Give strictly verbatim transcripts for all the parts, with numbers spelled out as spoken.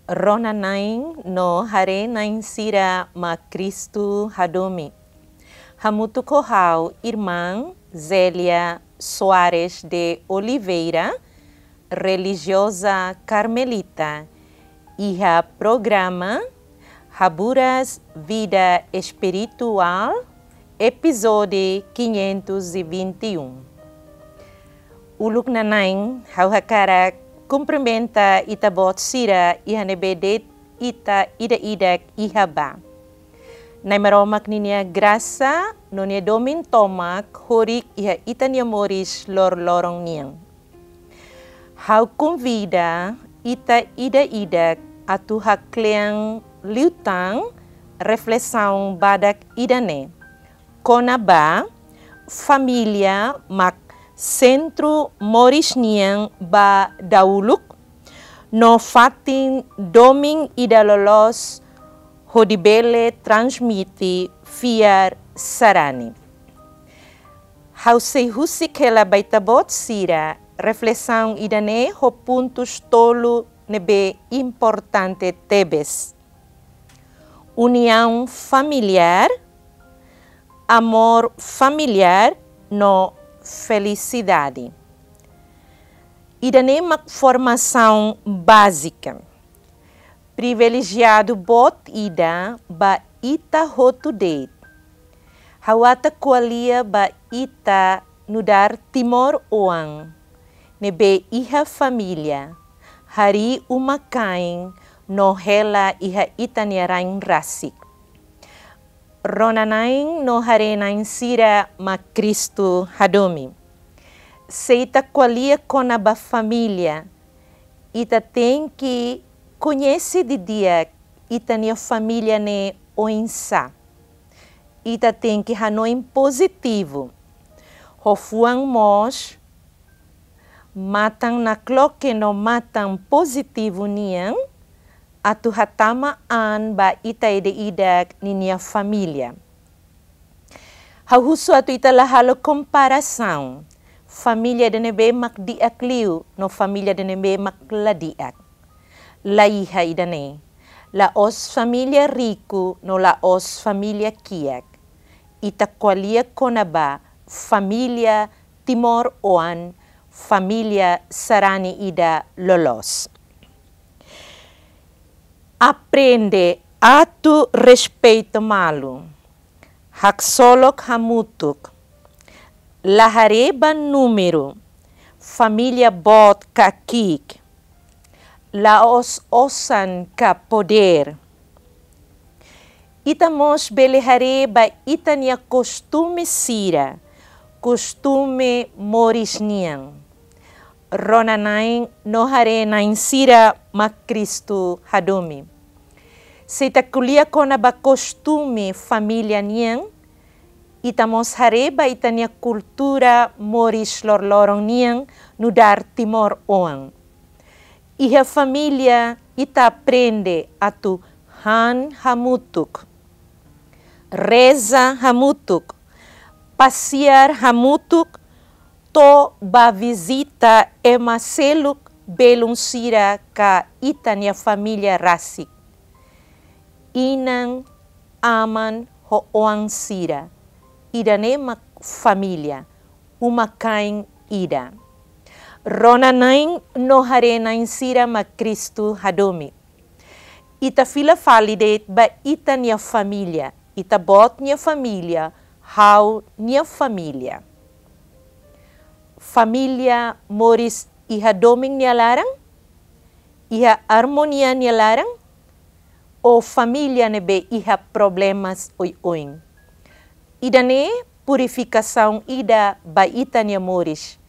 Rona-na'in no haree-na'in sira mak Kristu hadomi. Hamutuk ho ha'u, Irmã Zélia Soares de Oliveira, relijioza karmelita, iha programa Haburas Vida Espirituál, epizódiu quinhentos e vinte e um. Uluk nana'in, ha'u hakarak kumprimenta ita-boot sira iha ne'ebé de'it ita ida-idak iha ba. Na'i Maromak ninia grasa no nia domin tomak horik iha ita-nia moris loroloron nian. Ha'u konvida ita ida-idak atu haklean liután reflesaun badak ida-ne'e, kona-ba família mak sentru moris nian ba dahuluk, no fatin domin ida loloos hodi bele transmite fiar sarani. Ha'u sei husik hela ba ita-boot sira reflesaun ida-ne'e ho pontus tolu ne'ebé importante tebes. Uniaun familiár, amór familiár no felisidade. Ida-ne'e mak formasaun bázika. Privilejiadu boot ida ba ita hotu de'it. Ha'u ata ko'alia ba ita nu'udar timoroan ne'ebé iha família, harii uma-kain no hela iha ita-nia rain rasik. Rona-na'in no haree-na'in sira mak Kristu hadomi. Se ita ko'alia kona-ba família, ita tenke koñese didi'ak ita-nia família ne'e oinsá. Ita tenke hanoin pozitivu. Ho fuan moos, matan nakloke no matan pozitivu nian, atu hatama an ba ita ida-idak ninia família. Ha'u husu atu ita la halo komparasaun família ida ne'ebé mak di'ak liu no família ida ne'ebé mak la di'ak. La iha ida-ne'e. La'ós família riku no la'ós família kiak. Ita ko'alia kona-ba família timoroan, família sarani ida loloos. Aprende atu respeita malu. Haksolok hamutuk. La haree ba númeru, família boot ka ki'ik. La'ós osan ka podér. Ita mós bele haree ba ita-nia kostume sira, kostume moris nian. Rona-na'in no haree-na'in sira mak Kristu hadomi. Se ita ko'alia kona-ba kostume família nian, ita mós haree ba ita-nia kultura moris loroloron nian nu'udar timoroan. Iha família ita aprende atu han hamutuk, reza hamutuk, pasiar hamutuk, to'o bá vizita ema seluk belun sira ka ita-nia família rasik. Inan, aman ho oan sira. Ida-ne'e mak família, uma-kain ida. Rona-na'in no haree-na'in sira mak Kristu hadomi. Ita fila fali de'it ba ita-nia família, ita-boot nia família, ha'u-nia família. Família moris iha domin nia laran, iha armonia nia laran, ou família ne'ebé iha problemas oioin. Ida-ne'e purifikasaun ida ba ita-nia moris.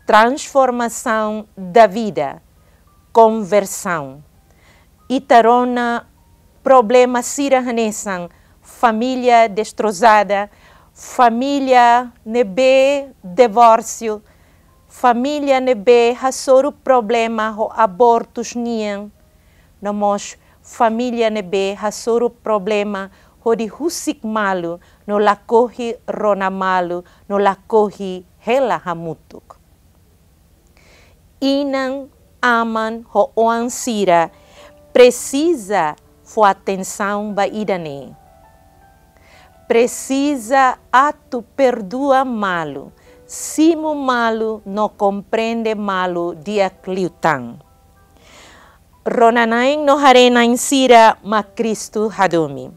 Transformação da vida. Konversaun. Ita rona problema sira hanesan família destrozada, família ne'ebé divórsiu, família ne'ebé hasoru problema ho abortus nian, no mós família ne'ebé hasoru problema hodi husik malu, no lakohi rona malu, no lakohi hela hamutuk. Inan, aman ho oan sira Presiza fó atensaun ba ida-ne'e. Presiza atu perdua malu, simu malu no komprende malu di'ak liután. Rona-na'in no haree-na'in sira mak Kristu hadomi.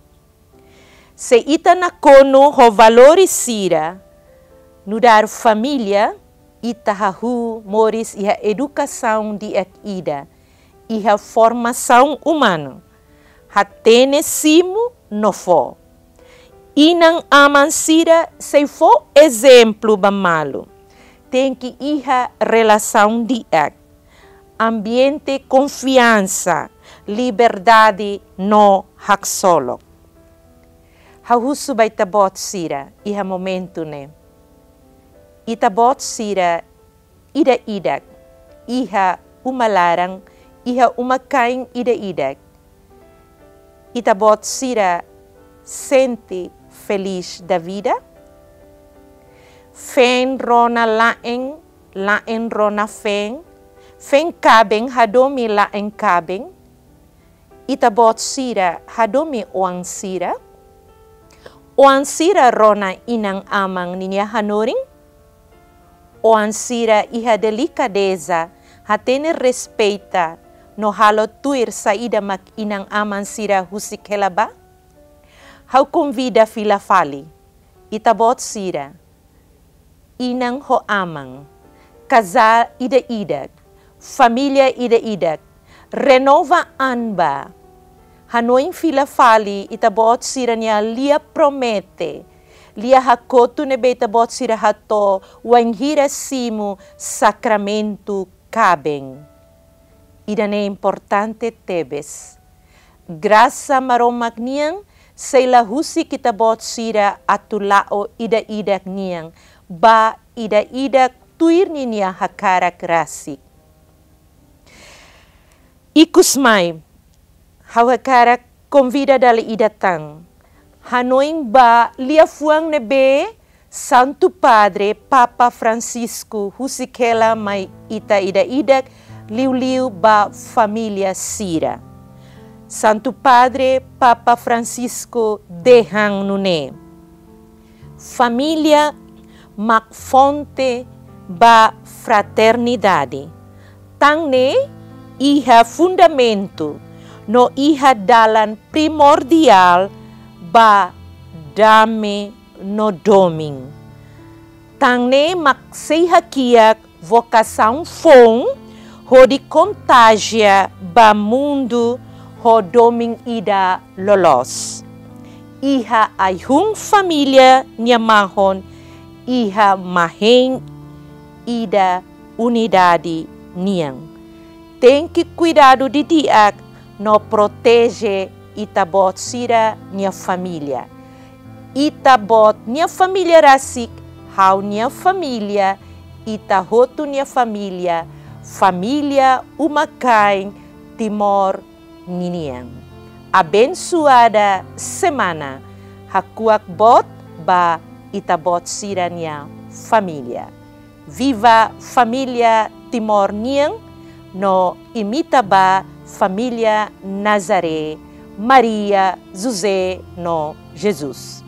Se ita nakonu ho valores sira, nu'udar família, ita hahú moris iha edukasaun di'ak ida, iha formasaun umanu, hatene simu no fó. Inan-aman sira sei fó ezemplu ba malu. Tenke iha relasaun di'ak, ambiente konfiansa, liberdade no haksolok. Ha'u husu ba ita-boot sira iha momentu ne'e. Ita-boot sira ida-idak iha uma laran, iha uma-kain ida-idak. Ita-boot sira sente feliz da vida? Feen rona la'en, la'en rona feen, feen kaben hadomi la'en kaben? Ita-boot sira hadomi oan sira? Oan sira rona inan-aman ninia hanorin? Oan sira iha delikadeza, hatene respeita, no halo tuir saida mak inan-aman sira husik hela ba? Ha'u konvida fila fali, ita-boot sira, inan ho aman, kazál ida-idak, família ida-idak, renova an ba. Hanoin fila fali ita-boot sira-nia lia promete, lia hakotu ne'ebé ita-boot sira hato'o wainhira simu sakramentu kaben. Ida-ne'e importante tebes. Grasa Maromak nian sei la husik ita-boot sira atu la'o ida-idak nian, ba ida-idak tuir ninia hakarak rasik. Ikusmai, ha'u hakarak konvida dala ida tan. Hanoin ba liafuan ne'ebé Santu Padre Papa Francisco husik hela mai ita ida-idak, liuliu ba família sira. Santu Padre Papa Francisco dehan nune'e: Família mak fonte ba fraternidade. Tan ne'e iha fundamentu no iha dalan primordiál ba dame no domin. Tan ne'e mak sei hakiak vokasaun foun hodi kontajia ba mundu ho domin ida loloos. Iha ai-hun família nia mahon, iha mahein ida unidade nian. Tenke kuidadu didi'ak no proteje ita-boot sira-nia família. Ita-boot nia família rasik, ha'u-nia família, ita hotu nia família, família uma-kain Timor ninian. Abensuada semana, hakuak boot ba ita-boot sira-nia família. Viva família Timor nian, no imita ba família Nazaré, Maria, José no Jesus.